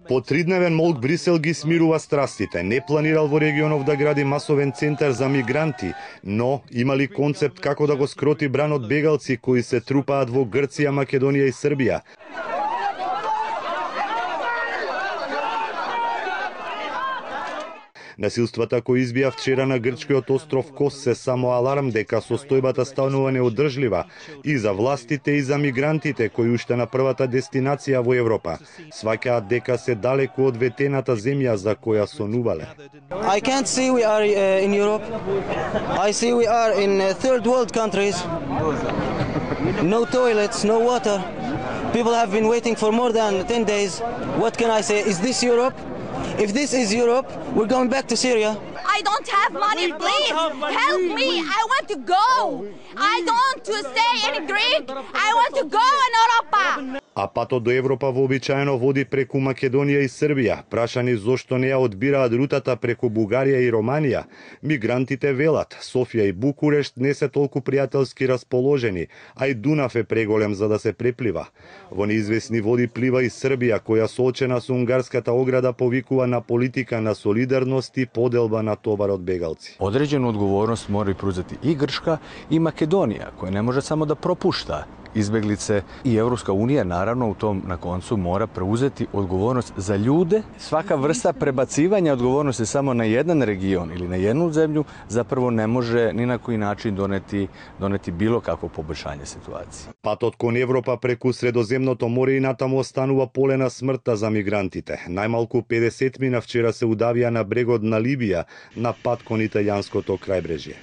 По тридневен молк Брисел ги смирува страстите. Не планирал во регионов да гради масовен центар за мигранти, но имали концепт како да го скроти бранот бегалци кои се трупаат во Грција, Македонија и Србија. Насилствата кои избија вчера на грчкиот остров Кос се само аларм дека состојбата станува неодржлива и за властите и за мигрантите кои уште на првата дестинација во Европа сваќаат дека се далеку од ветената земја за која сонувале. I can't see we are in Europe. I see we are in third world countries. No toilets, no water. People have been waiting for more than 10 days. What can I say? Is this Europe? If this is Europe, we're going back to Syria. I don't have money, please help me. I want to go. I don't want to stay in Greek. I want to go in Europa. А патот до Европа вообичаено води преку Македонија и Србија. Прашани зошто не ја одбираат рутата преку Бугарија и Романија, мигрантите велат Софија и Букурешт не се толку пријателски расположени, а и Дунав е преголем за да се преплива. Во неизвестни води плива и Србија, која соочена со унгарската ограда повикува на политика на солидарност и поделба на товарот бегалци. Одреđenu odgovornost moraju preuzeti i Grčka i Makedonija, koja ne može samo da propušta izbeglice, i Evropska unija naravno u tom na koncu mora preuzeti odgovornost za ljude. Svaka vrsta prebacivanja odgovornosti samo na jedan region ili na jednu zemlju zapravo ne može ni na koji način doneti bilo kakvo poboljšanje situacije. Патот кон Европа преку Средоземното море и натаму останува поле на смртта за мигрантите. Најмалку 50 мина вчера се удавија на брегот на Либија на пат кон италијанското крајбрежје.